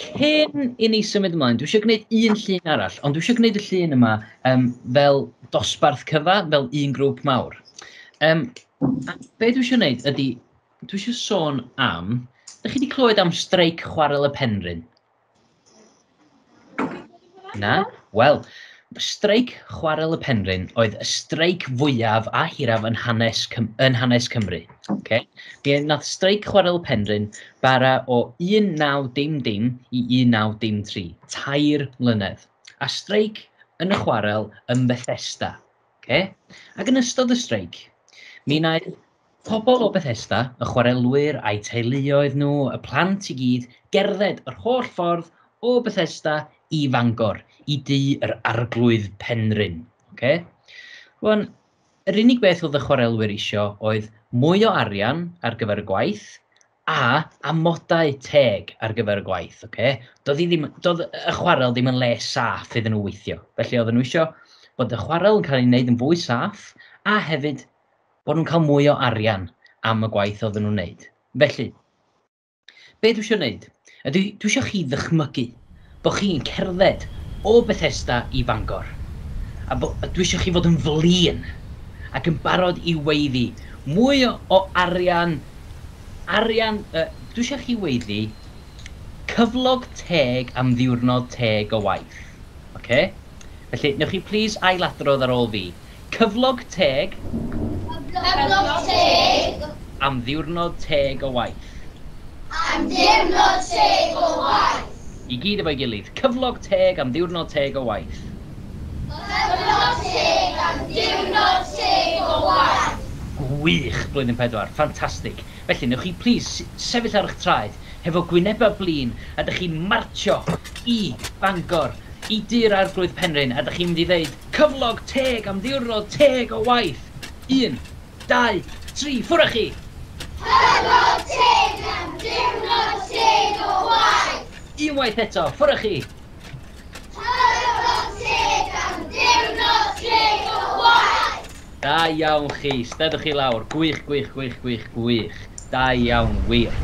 Cyn i ni symud ymlaen, dwi eisiau gwneud un llun arall, ond dwi eisiau gwneud y llun yma fel dosbarth cyfa, fel un grŵp mawr. A be dwi eisiau gwneud ydy, dwi eisiau sôn am... Dach chi wedi clywed am streic Chwarel y Penrhyn? Na? Wel, streic Chwarel y Penrhyn oedd y streic fwyaf a hiraf yn hanes Cymru. Okay? Mi nath streic Chwarel y Penrhyn bara o 1900 i 1903, 3 mlynedd. A streic yn y chwarel yn Bethesda. Okay? Ac yn ystod y streic, mi wnaeth pobl o Bethesda, y chwarelwyr a'u teuluoedd nhw, y plant i gyd, gerdded yr holl ffordd o Bethesda i Fangor, i dŷ yr Arglwydd Penrhyn. Okay? Rwan, yr unig beth oedd y chwarelwyr isio oedd mwy o arian ar gyfer y gwaith a amodau teg ar gyfer y gwaith. Okay? Doedd y chwarel ddim yn le saff iddyn nhw weithio. Felly oedden nhw isio bod y chwarel yn cael ei wneud yn fwy saff a hefyd bod nhw'n cael mwy o arian am y gwaith oedden nhw'n wneud. Felly, be dwi eisiau wneud? Dwi eisiau chi ddychmygu bod chi'n cerdded o Bethesda i Fangor. A dwi eisiau chi fod yn flin ac yn barod i weiddi. Mwy o arian, dwi eisiau chi weiddi cyflog teg am ddiwrnod teg o waith. Okay? Felly, newch chi please ailadrodd ar ôl fi. Cyflog teg. Cyflog teg. Am ddiwrnod teg o waith. Am ddiwrnod teg o waith. I gyd efo'i gilydd. Cyflog teg am ddiwrnod teg o waith. Cyflog teg am ddiwrnod teg o waith. Gwych, blwyddyn 4. Ffantastig. Felly, newch chi please sefyll ar eich traed hefo gwynebau blin a dych chi'n martio i Bangor, i dŷ'r Arglwydd Penrhyn, a dych chi'n mynd i ddeud cyflog teg am ddiwrnod teg o waith. 1, 2, 3, ffwrdd â chi! Cyflog teg am ddiwrnod teg o waith. Unwaith eto, ffwrdd â chi! Cyflog teg am ddiwrnod teg o waith. Da iawn chi, steddwch chi lawr. Gwych, gwych, gwych, gwych, gwych. Da iawn, wir.